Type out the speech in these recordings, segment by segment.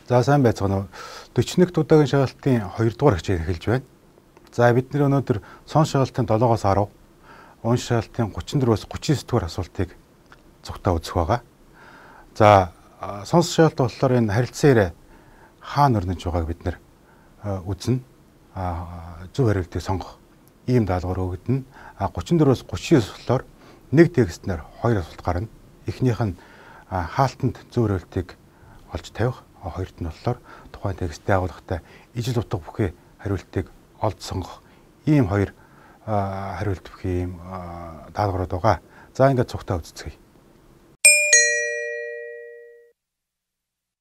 За сайн байцгаана уу. 41 удаагийн шагалтын 2 дугаар хичээл эхэлж байна. За бид нэр өнөөдөр сон шагалтын 7-оос 10, он шагалтын 34-өөс 39 дугаар асуултыг цугтаа үзэх байгаа. За сонс шагалт болохоор энэ харилцан ирээ хаана өрнөж байгааг бид нэр үзнэ. Зөв хариултыг сонгох ийм даалгавар өгдөн. 34-өөс 39 болохоор нэг текстнэр 2 асуулт гарна. Эхнийх нь хаалтанд зөв хариултыг олж тавих. Хоёрт нь болохоор тухайн тексттэй агуулгатай ижил утга бүхий хариултыг олж сонгох ийм хоёр хариулт бүхий ийм даалгаврууд байгаа. За ингээд цугтаа үзцгээе.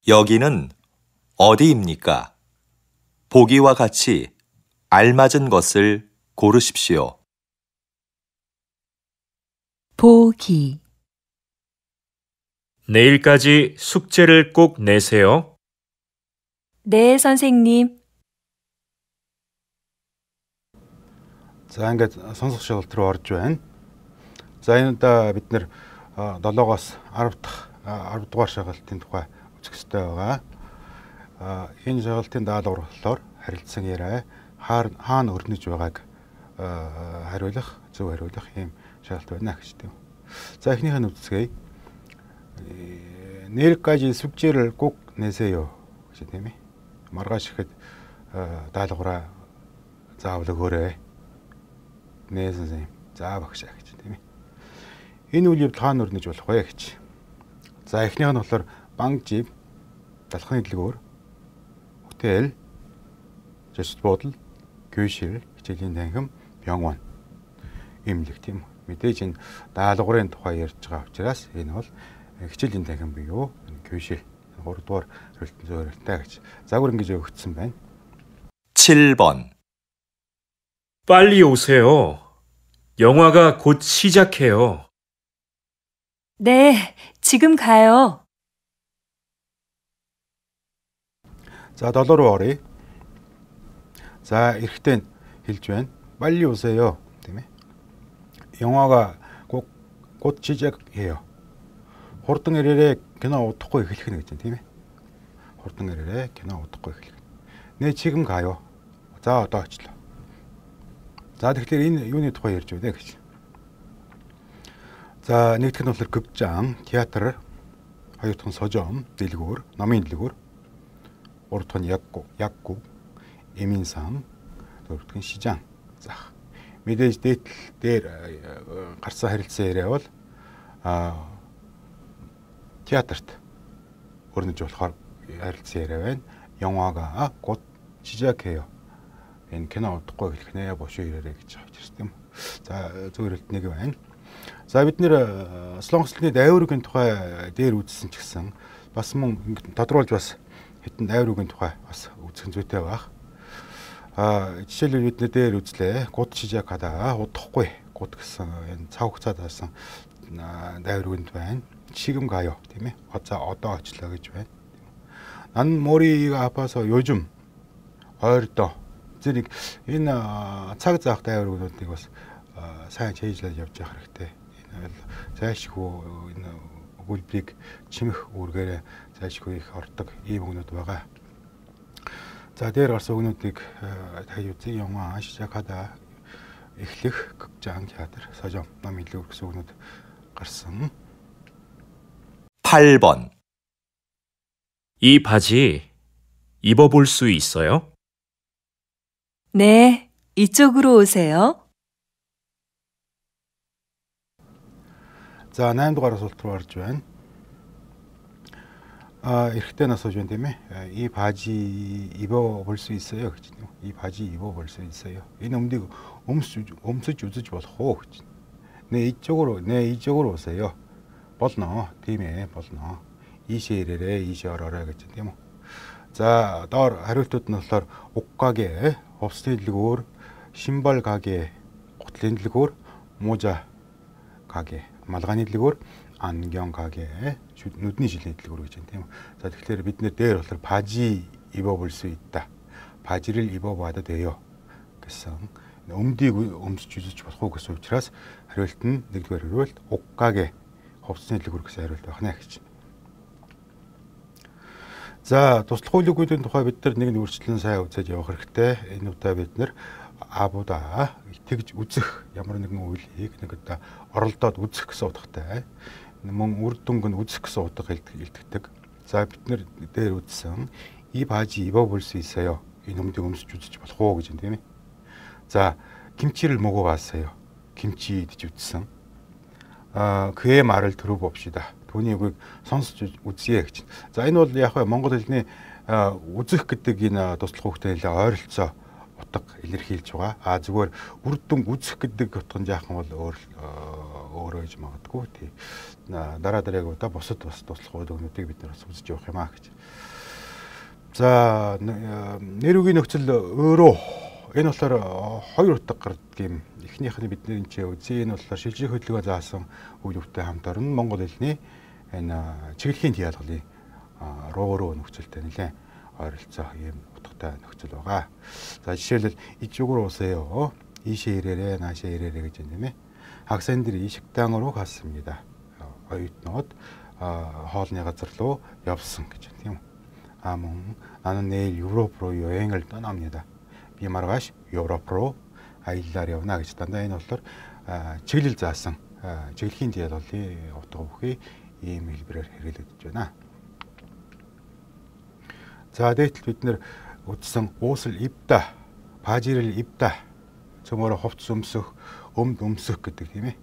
여기는 어디입니까? 보기와 같이 알맞은 것을 고르십시오. 보기. 내일까지 숙제를 꼭 내세요. 네, 선생님. За ингээд сонсох шагалт руу орж байна. За энэ удаа бид нэр 7-оос 10 дахь 10 дугаар шагалтын тухай үзэх ёстой байгаа. Энэ шагалтын даалгавар болохоор харилцан яриа хаана өрнөж байгааг хариулах, зөв хариулах ийм шагалт байна гэж тийм. За эхнийх нь үзцгээе. Нэр까지 숙제를 꼭 내세요 гэж тийм ээ. Маргааш ихэд даалгавраа заавал өгөөрэй. Нээ 선생님. За багшаа гэж тийм ээ. Энэ үйл явдал хаана өрнөж болох вэ гэж. За эхнийх нь болохоор банкжип, далхны дэлгүүр, хотел, жишт бодол, 교실, хичээлийн танхим, 병원 имлэг тийм. Мэдээж энэ даалгаврын тухай ярьж байгаа учраас энэ бол хичээлийн танхим буюу 교실 3 дугаар хариултын зөв хариултаа гэж загвар ингэж өгөгдсөн байна. 7번. 빨리 오세요. 영화가 곧 시작해요. 네, 지금 가요. За 7 руу оръё. За эрэхтэн хэлж байна. 빨리 오세요. тийм ээ. 영화가 곧 시작해요. хурдан ирээрээ кино удахгүй эхлэх нь гэж байна тийм ээ. Хурдан ирээрээ кино удахгүй эхлэх. Нэ 지금 가요. За одоо очлоо. За тэгэхээр энэ юуны тухай ярьж байна гэж. За нэгдүгээр нь болохоор 극장, театр, хоёр дахь нь 서점, дэлгүүр, номын дэлгүүр, гурав дахь нь 약국, э민상, дөрөв дахь нь 시장. За мэдээж дээр гарсан харилцан яриа бол театрт өрнөж болохоор харилцан яриа байна. 영화가 곧 시작해요. Энэ кино удахгүй эхлэх нэ бошоо ирээрэй гэж хэлж тийм. За зөв хариулт нэг байна. За бид нэр солонгослны дайврын тухай дээр үзсэн ч гэсэн бас мөн тодруулж бас хэдэн дайврын тухай бас үзэх зүйтэй байх. Жишээлбэл бид нэр дээр үзлээ. Гуд 시작하다 удахгүй гуд гэсэн энэ цаг хугацаанд хасан дайврын байна. 지금 가요. тийм ээ. Одоо очлоо гэж байна. 난 머리가 아파서 요즘 ойрдоо зэрэг энэ цаг заах дайвруудыг бас сайн чийжлээд явж явах хэрэгтэй. Энэ зайлшгүй энэ өгүүлбэрийг чимэх үүргээрээ зайлшгүй их ордог ийм өгнүүд байгаа. За дээр гарсан өгнүүдийг дахиж үзье. 영화 시작하다 эхлэх, 극장, театр, 서점, номын дэлгүүр гэсэн өгнүүд гарсан. 8번. 이 바지 입어볼 수 있어요? 네, 이쪽으로 오세요. За 8 дугаар асуулт руу орж байна. эрэгтэй асууж байна тийм ээ. 이 바지 입어볼 수 있어요 гэж. 이 바지 입어볼 수 있어요. Энэ өмдийг өмсөж үзэж болох уу гэж. 네 이쪽으로 오세요. болно. Тийм ээ, болно. 이시에 ирээрээ, 이시에 ороорой гэж тийм үү. За доор хариултууд нь болохоор 옷가게, хувцсны дэлгүүр, 신발 가게, гутлын дэлгүүр, 모자 가게, малгайны дэлгүүр, 안경 가게, нүдний жилийн дэлгүүр гэж байна тийм үү. За тэгэхээр бид нэр дээр болохоор 바지 입어볼 수 있다. 바지를 입어봐도 돼요 гэсэн өмдийг өмсөж үзэж болох уу гэсэн учраас хариулт нь нэгдүгээр хариулт 옷가게, хувцсны дэлгүүр гэсэн хариулт байна гэж. За туслах үйл өгүүлбэрийн тухай бид нар нэг үргэлжлэн сайн үзэж явах хэрэгтэй. Энэ удаа бид нар абуда итгэж үзэх ямар нэгэн үйлийг нэг удаа оролдоод үзэх гэсэн утгатай. Мөн үр дүнг нь үзэх гэсэн утга илтгэдэг. За бид нар дээр үзсэн 이 바지 입어볼 수 있어요. 이 놈들 음식 주지 болох уу гэж юм тийм ээ. За 김치를 먹어봤어요. 김치 드셨어? 그의 말을 들어봅시다. 돈이 그 сонсож үзье гэж. За энэ бол яг Монгол хэлний үзэх гэдэг энэ туслах хөвгтэй ойролцоо утга илэрхийлж байгаа. Зүгээр үр дүн үзэх гэдэг утга нь жаахан бол өөрөө гэж магадгүй. Тий. Дараа удаа бусад бас туслах үгнүүдийг бид нар бас үзэж явах юм аа гэж. За нэр үгийн нөхцөл өөрөө энэ болохоор хоёр утга гардаг юм. Эхнийх нь бидний энэ үзье. Энэ болохоор шилжих хөдөлгөөн заасан үйл явдлын хамт орно. Монгол хэлний энэ чиглэлийн диалгалын руу нөхцөлтэй нэлээд ойролцоо ийм утгатай нөхцөл байгаа. За жишээлбэл 이쪽으로 오세요. 이시에 이래래 나시에 이래래 гэж юм тийм ээ. 학생들이 이 식당으로 갔습니다. 어윳нууд хоолны газар руу явсан гэж тийм. мөн 나는 내일 유럽으로 여행을 떠납니다. Би маргааш Европ руу аяллаар явна гэж дандаа энэ болохоор чиглэл заасан чиглэлийн диалгалын утга бүхий ийм хэлбэрээр хэрэглэгдэж байна. За дээтэл бид нэр үзсэн 옷을 입다, 바지를 입다, цөмөрө хувцс өмсөх, өмд өмсөх гэдэг тийм ээ.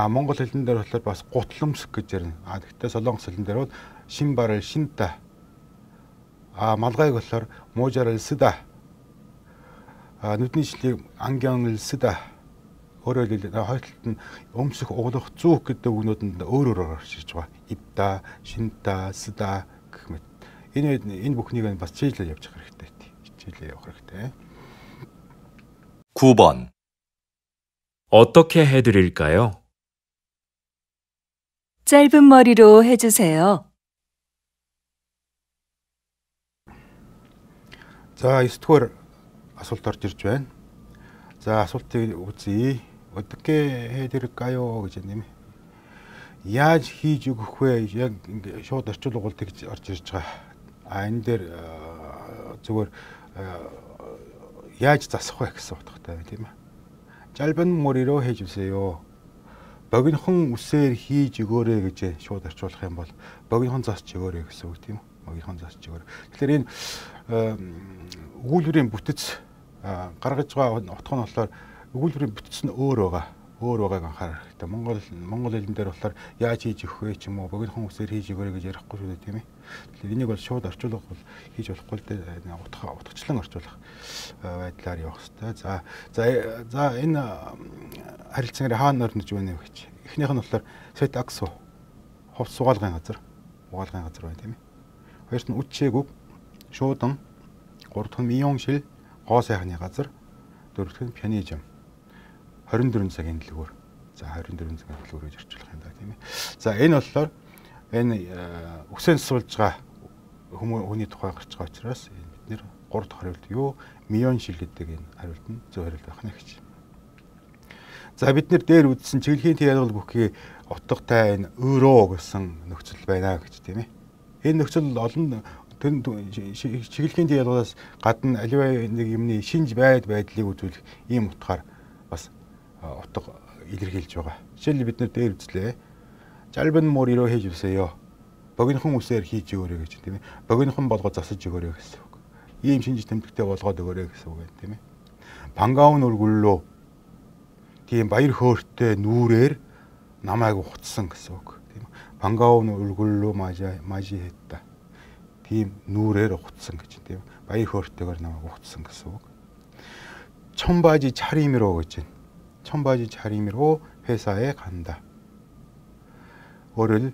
Монгол хэлэн дээр болохоор бас гутламсэх гэж ярина. Гэхдээ солонгос хэлэн дээр бол 신발을 신다. малгайг болохоор 모자를 쓰다. нүдний шлийг 안경을 쓰다. өөрөөр хэлбэл хоёр талд нь өмсөх, углах, зүүх гэдэг үгнүүд нь өөр гарч ирж байгаа. 입다, 신다, 쓰다 гэх мэт. Энэ бүхнийг бас чиглэлээр явж явах хэрэгтэй. чиглэлээр явах хэрэгтэй. 9번. 어떻게 해드릴까요? 짧은 머리로 해주세요. За 9-р асуулт орж ирж байна. За асуултыг үзье. 어떻게 해드릴까요 гэж юм. Яаж хийж өгөх вэ? Яг ингэ шууд орчуул угуулт гэж орж ирж байгаа. Энэ дээр зүгээр яаж засах вэ гэсэн утгатай байна тийм ээ. 짧은 머리로 해주세요. богинохон үсээр хийж өгөөрэй гэж шууд орчуулах юм бол богинохон засч өгөөрэй гэсэн үг тийм үү? богинохон засч өгөөрэй. Тэгэхээр энэ өгүүлбэрийн бүтэц гаргаж байгаа утга нь болохоор өгүүлбэрийн бүтэц нь өөр байгаа. Өөр байгааг анхаарах хэрэгтэй. Монгол хэлэн дээр болохоор яаж хийж өгөх вэ ч юм уу богинохон үсээр хийж өгөөрэй гэж ярихгүй шүү дээ тийм ээ. Тэгэхээр энийг бол шууд орчуулах бол хийж болохгүй л дээ утгачлан орчуулах байдлаар явах хэрэгтэй. За энэ харилцааны хаана орнож байна вэ гэж. Эхнийх нь болохоор сэт аксу хувц угаалгын газар байна тийм ээ. Хоёрт нь үтчээгүг шуудан, гурав дахь нь 미용실 гоо сайхны газар, дөрөв дэх нь 편의점 24 цагийн дэлгүүр. За 24 цагийн дэлгүүр гэж орчуулах юм да тийм ээ. За энэ болохоор энэ үсээн суулж байгаа хүний тухай гарч байгаа учраас бид нэр 3 дахь хариулт юу? 미용실 гэдэг энэ хариулт нь зөв хариулт байх нь гэж. За бид нэр дээр үзсэн чиглэлийн диалгал бүхий утгатай энэ өөрөө гэсэн нөхцөл байна гэж тийм ээ. Энэ нөхцөл олон чиглэлийн диалгалаас гадна аливаа нэг юмны шинж байдлыг үзүүлэх ийм утгаар бас утга илэрхийлж байгаа. Жишээлбэл бид нэр дээр үзлээ. 짧은 머리로 해주세요. богинохон үсээр хийж өгөөрэй гэж тийм ээ. богинохон болгоод засаж өгөөрэй гэсэн үг. Ийм шинж тэмдэгтэй болгоод өгөөрэй гэсэн үг байна тийм ээ. 반가운 얼굴로 тийм баяр хөөртэй нүрээр намайг ухацсан гэсэн үг тийм. 반가운 얼굴로 맞이했다. тийм нүрээр ухацсан гэж тийм. баяр хөөртэйгээр намайг ухацсан гэсэн үг. 청바지 차림으로 гэж байна. 청바지 차림으로 회사에 간다. өөрөөр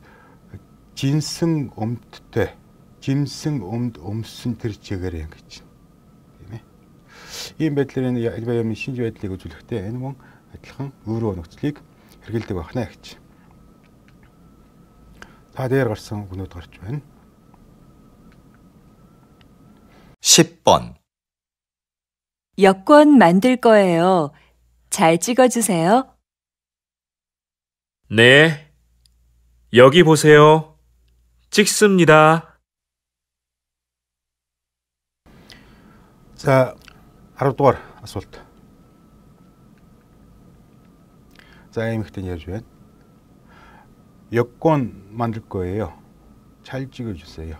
짐승 өмдтэй 짐승 өмд өмсөн тэр чигээр юм гэж байна. Тийм ээ. Ийм байдлаар энэ альва юмны шинж байдлыг үзүүлэхдээ энэ мөн адилхан өөрөө нөхцөлийг хэрэгэлдэг байна гэж. Та дээр гарсан үгнүүд гарч байна. 10번. 여권 만들 거예요. 잘 찍어주세요. 네. 여기 보세요. 찍습니다. За 10 дугаар асуулт. За эмэгтэй ярьж байна. 여권 만들 거예요. 잘 찍어주세요.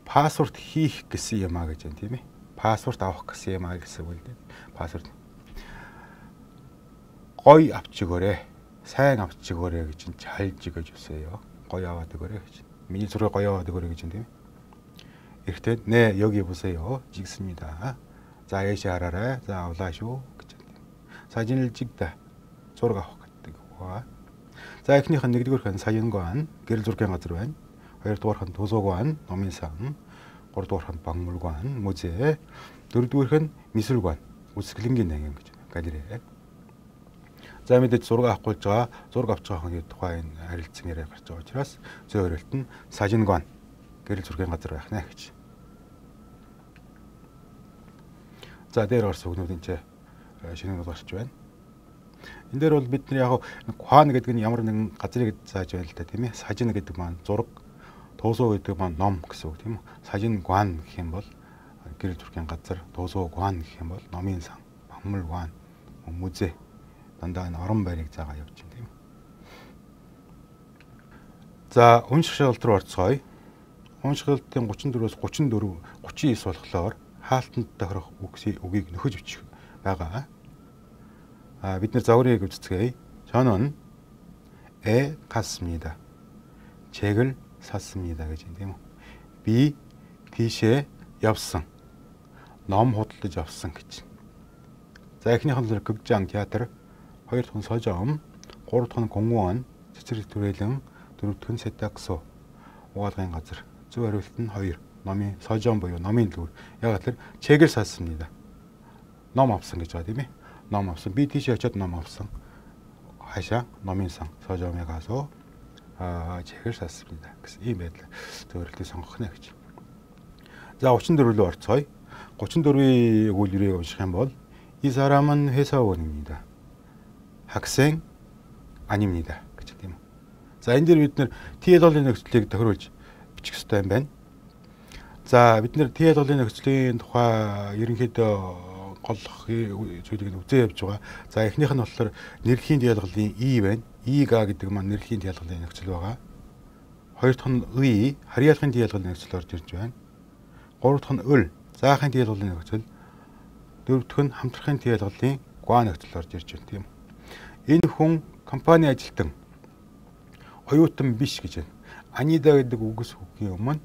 파스포र्ट хийх гэсэн юм а гэж байна тийм ээ. Паспорт авах гэсэн юм а гэсэн үг дээ. Паспорт. Гой авч өгөөрэй. Сайн авч өгөөрэй гэж чинь 잘 찍어주세요. гой аваад өгөөрэй гэж. миний зураг гоё аваад өгөөрэй гэж байна тийм ээ. 이렇게 네 여기 보세요. 찍습니다. 자 예시 알아라. 자 올라쇼 гэж байна. 사진을 찍다. зураг авах гэдэг үг. За эхнийх нь нэгдүгээрх нь саян관 гэрэл зургийн газар байна. хоёрдугаарх нь 도서관 номинсан, гуравдугаарх нь 박물관 музей, дөрөвдүгээрх нь 미술관 үсгэлэнгийн нангин гэж байна. галерей. За мэдээж зураг авах болж байгаа, зураг авч байгаа хүний тухай энэ харилцан яриа гарч байгаа учраас зөөр өрөлт нь сажин관 гэрэл зургийн газар байх нэ гэж. За дээр гарсан үгнүүд энэ шинээр гарч байна. Энэ дээр бол бид нар яг 과ан гэдэг нь ямар нэгэн газрыг зааж байна л да тийм ээ. сажин гэдэг маань зураг, 도서 гэдэг маань ном гэсэн үг тийм үү. сажин관 гэх юм бол гэрэл зургийн газар, 도서관 гэх юм бол номын сан, 박물관, музей дандаа энэ орон байрыг заагаа явж байна тийм. За унших шалгалт руу орцгоё. Унших шалгалтын 34-өөс 39 болохоор хаалтанд тохирох үгийг нөхөж бичих байгаа. бид нар загварыг үздэцгээе. 저는 애 갔습니다. 책을 샀습니다 гэж юм тийм үү. Би тийшээ явсан. ном худалдаж авсан гэж. За эхнийх нь 극장, театр, хоёр дахь нь 서점, гурав дахь нь 공무원, цэцэрлэг түрээлэн, дөрөв дахь нь 세탁소, угаалгын газар. зөв хариулт нь 2. номын 서점 буюу номын дүр. Яг л 책을 샀습니다. ном авсан гэж байгаа тийм ээ. ном авсан. би тийш очиод ном авсан. 하샤 номын сан 서점에 가서 책을 샀습니다. гэсэн ийм байдлаар зөвөрлөлтийг сонгох нэ гэж. За 34 рүү орцгоё. 34-ийн өгүүлбэрийг унших юм бол 이 사람은 회사원입니다. 학생 아닙니다. гэж тийм үү. За энэ дээр бид нэр TL-ийн нөхцөлийг тохируулж бичих хэрэгтэй юм байна. За бид нэр TL-ийн нөхцөлийн тухай ерөнхийдөө гол зүйлийг үзээ явж байгаа. За эхнийх нь болохоор нэрхийн диалгалын И байна. Ига гэдэг маань нэрхийн диалгалын нөхцөл байгаа. Хоёр дахь нь 의, харьяалахын диалгалын нөхцөл орж ирж байна. Гурав дахь нь 을, заахын диалгалын нөхцөл. Дөрөв дахь нь хамтрахын диалгалын 과 нөхцөл орж ирж байна тийм. Энэ хүн компани ажилтан оюутан биш гэж байна. 아니다 гэдэг үгс үгийн өмнө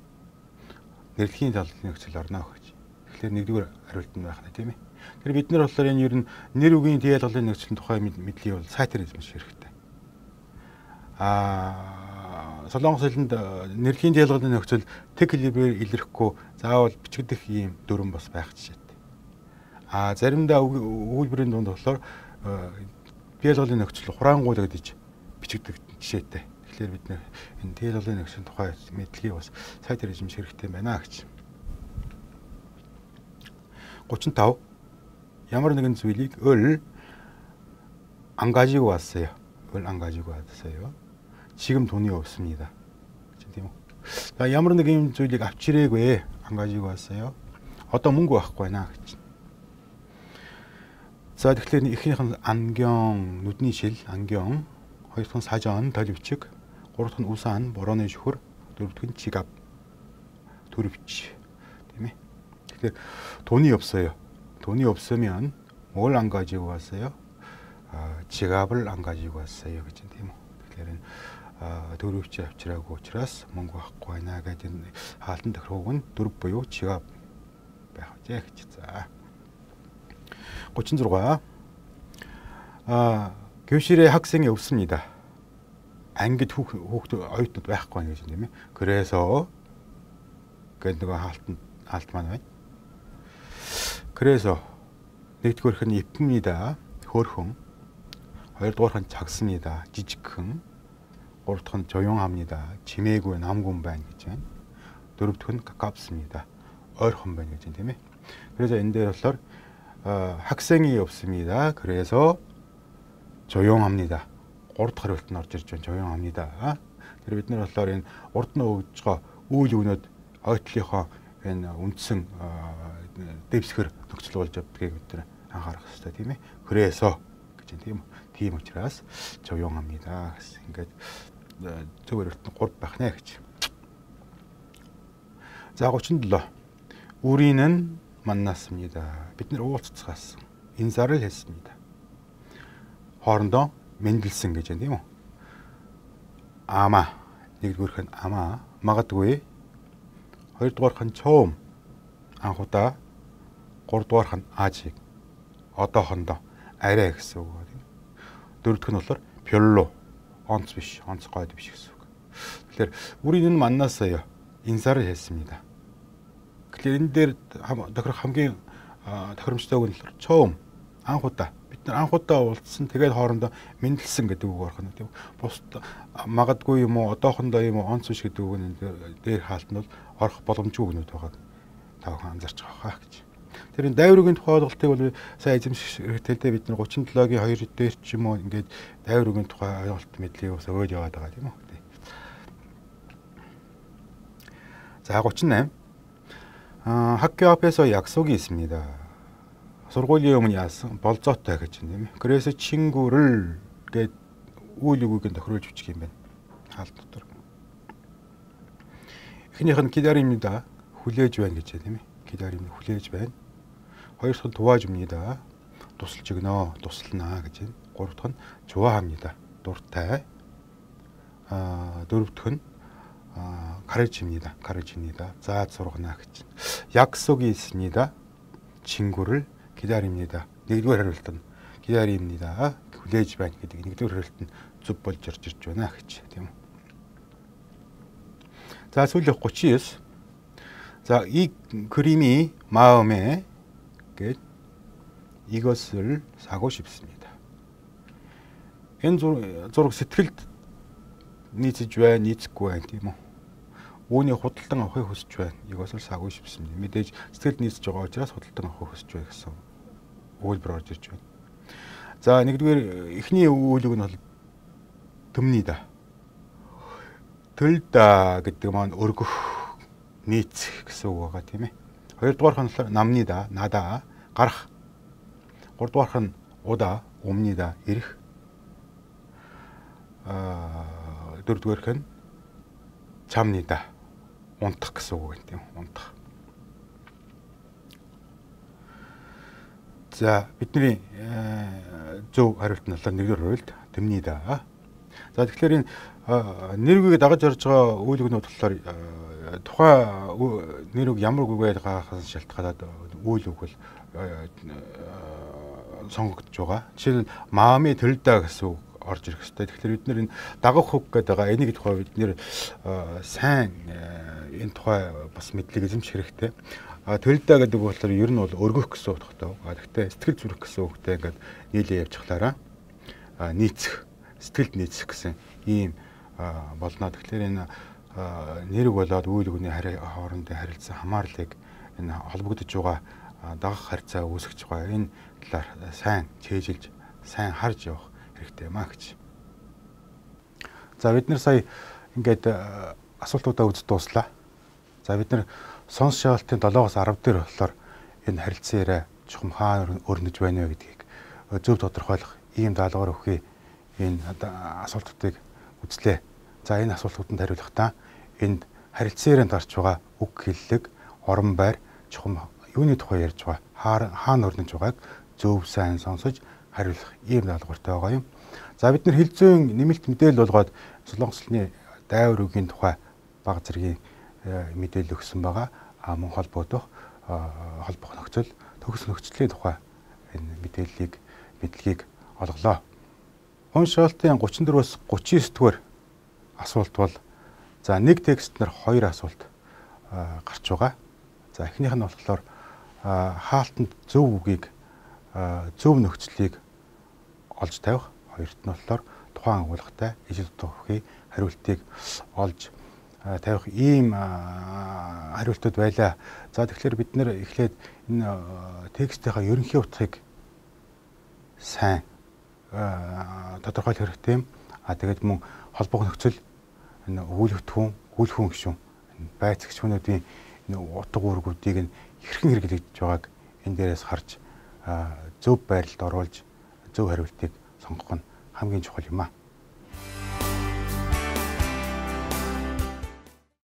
нэрхийн диалгалын нөхцөл орно гэж. Тэгэхээр нэгдүгээр хариулт нь байх нь тийм ээ. Тэгэхээр бид нар болохоор энэ ер нь нэр үгийн диалгалын нөхцөлийн тухай мэдлийг бол сайтар эзэмших хэрэгтэй. Солонгос хэлэнд нэрхийн диалгалын нөхцөл тэг хэлбэрээр илэрхгүй заавал бичигдэх ийм дүрэн бас байх жишээтэй. Заримдаа өгүүлбэрийн дунд болохоор диалгалын нөхцөл хураангуул гэж бичигдэх жишээтэй. Тэгэхээр бид нэр энэ диалгалын нөхцөлийн тухай мэдлэгийг бас сайтар эзэмших хэрэгтэй байна гэж. 35. ямар нэгэн зүйлийг 을 안 가지고 왔어요. 을 안 가지고 왔어요. 지금 돈이 없습니다. тийм үү. За ямар нэгэн зүйлийг авч ирээгүй 안 가지고 왔어요. одоо мөнгө байхгүй байна гэж. За тэгэхээр эхнийх нь 안경, нүдний шил, 안경, хоёр дахь нь 사전, төлөвчг, гурав дахь нь 우산, борооны шүхэр, дөрөв дахь нь 지갑, төлөвч. тийм ээ. Тэгэхээр 돈이 없어요. 돈이 없으면 뭘 안 가지고 왔어요? 지갑을 안 가지고 왔어요. 그치? Тэгэхээр төлөвч авчираагүй учраас мөнгө авахгүй байна гэдэг хаалтанд тохирох нь дөрв буюу 지갑 байх вэ гэж. За 36. 교실에 학생이 없습니다. ангид хүүхд оюутнууд байхгүй байна гэж тийм ээ. 그래서 гэдэг нэг хаалт маань байна. 그래서 нэгдүгээрх нь 예쁩니다. хөөрхөн. хоёрдугаарх нь 작습니다. жижигхэн. гурав дахь нь 조용합니다. 지매고 남군 байна гэж байна. дөрөв дахь нь 가깝습니다. ойрхон байна гэж байна тийм ээ. 그래서 энэ дээр болохоор 학생이 없습니다. 그래서 조용합니다. гурав дахь хариулт нь орж ирж байна. 조용합니다. тэр бид нар болохоор энэ урд нь өгж байгаа үйл өгнөд ойтлынхоо энэ үндсэн дэвсгэр нөхцөл болж явдгийг бид нар анхаарах хэрэгтэй тийм ээ. 그래서 гэж тийм үү. Тийм учраас 조용합니다. ингээд зөвөр өртөн 3 байх нэ гэж. За 37. 우리는 만났습니다. бид нар уулзцаасан. 인사를 했습니다. хоорондоо мэндэлсэн гэж байна тийм үү. 아마 нэгдүгээрх нь 아마 магадгүй. хоёрдугаарх нь 처음 анхудаа. гуравдугаарх нь 아직 одоохондоо арай гэсэн үг байна. дөрөвдөх нь болохоор 별로 онц биш, онцгой биш гэсэн үг. Тэгэхээр 우리는 만났어요. 인사를 했습니다. Тэгэхээр энэ дээр тохирох хамгийн тохиромжтойг нь болохоор 처음 анхудаа. бид нар анхудаа уулзсан тэгээд хоорондоо мэндэлсэн гэдэг үг орох нь тийм. бус магадгүй юм уу, одоохондоо юм уу, онц биш гэдэг үг нь дээр хаалт нь бол орох боломжгүй өгнөд байгаа. Та бүхэн анзаарч байгаа хаа гэж. Тэр энэ дайврын тухай ойлголтыг бол сайн эзэмших хэрэгтэй. бид нар 37-гийн 2 дээр ч юм уу ингээд дайврын тухай ойлголт мэдлийг ус өгөөд яваад байгаа тийм үү. За 38. 학교 앞에서 약속이 있습니다. сургуулийн өмнө яасан болзоотой гэж юм. 그래서 친구를 гээд үйл өгөөг тохируулж бичих юм байна. хаалт дотор. эхнийх нь 기다립니다. хүлээж байна гэж тийм ээ. 기다립니다. хүлээж байна. хоёр дахь нь 도와줍니다. тусалж өгнө, туслана гэж байна. гурав дахь нь 좋아합니다. дуртай. дөрөв дахь нь 가르칩니다. 가르칩니다. зааж сургана гэж. 약속이 있습니다. 친구를 기다립니다. нэгдүгээр хариулт нь 기다립니다. хүлээж байна гэдэг нэгдүгээр хариулт нь зөв болж ирж байна гэж тийм үү. За сүүлийнх 39. 자, 이 그림이 마음에 이것을 사고 싶습니다. энэ зураг сэтгэлд нийцэж байна, нийцэхгүй байна тийм үү. Үүний худалдан авахыг хүсэж байна. 이것을 사고 싶습니다. мэдээж сэтгэлд нийцэж байгаа учраас худалдан авахыг хүсэж байна гэсэн үйлбэр орж ирж байна. За нэгдүгээр эхний үйлэг нь бол 듭니다. 들다 гэдэг маань өргөх, нийцэх гэсэн үг байгаа тийм ээ. хоёрдугаарх нь 남니다. 나다, гарах. гуравдугаарх нь 오다, 옵니다. ирэх. дөрөвдүгээрх нь 잠니다. унтах гэсэн үг байна тийм үү. унтах. За бидний зөв хариулт нь болохоор нэгдүгээр хариулт 듭니다. За тэгэхээр энэ нэр үгийг дагаж орж байгаа үйлгнүүд болохоор тухайн нэр үг ямар үгээр гахаас шалтгаалаад үйл үг бол сонгогдож байгаа. Жишээл 마음이 들다 гэсэн үг орж ирэх хэрэгтэй. Тэгэхээр бид нэр энэ дагах үг гэдэг байгаа. Энийг тухай бид нэр сайн энэ тухай бас мэдлэг эзэмших хэрэгтэй. 들다 гэдэг үг болохоор ер нь бол өргөх гэсэн утгатай. Гэхдээ сэтгэл зүрэх гэсэн үгтэй ингээд нийлээ явчихлаараа нийцэх, сэтгэлд нийцэх гэсэн ийм болно. Тэгэхээр энэ нэрэг болоод үйл өгний хоорондын харилцаа хамаарлыг энэ холбогдож байгаа дагах харьцаа үүсгэж байгаа. Энэ талаар сайн чэйжилж, сайн харж явах хэрэгтэй маа гэж. За бид нар сая ингээд асуултуудаа үзэж дууслаа. За бид нар сонс шаалтын 7-оос 10 дээр болохоор энэ харилцан яриа чухам хаана өрнөж байна вэ гэдгийг зөв тодорхойлох ийм даалгавар өгөхий энэ асуултуудыг үзлээ. За энэ асуултууданд хариулахдаа энд харилцан ярианд гарч байгаа үг хэллэг, орон байр, чухам юуны тухай ярьж байгаа, хаана өрнөж байгааг зөв сайн сонсож хариулах ийм даалгавартай байгаа юм. За бид нар хэл зүйн нэмэлт мэдээлэл болгоод Солонгос улсны дайвар үгийн тухай бага зэргийн мэдээлэл өгсөн байгаа. Мөн холбогдох нөхцөл, төгс нөхцөлийн тухай энэ мэдлэгийг олголоо. Уншаалтын 34-өөс 39 дугаар асуулт бол за нэг текстнэр 2 асуулт гарч байгаа. За эхнийх нь болохоор хаалтанд зөв үгийг, зөв нөхцөлийг олж тавих. Хоёрт нь болохоор тухайн агуулгатай ижил дутуухийн хариултыг олж тавих ийм хариултууд байлаа. За тэгэхээр бид нэр эхлээд энэ текстийнхаа ерөнхий утгыг сайн тодорхойлох хэрэгтэй юм. Тэгээд мөн холбох нөхцөл, энэ өгүүлэгдэхүүн, гүйлхэн гишүүн, байцаагч хүмүүсийн энэ утга үүргүүдийг нь хэрхэн хэрэглэж байгааг энэ дээрээс харж зөв байрлалд оруулж зөв хариултыг сонгох нь хамгийн чухал юм аа.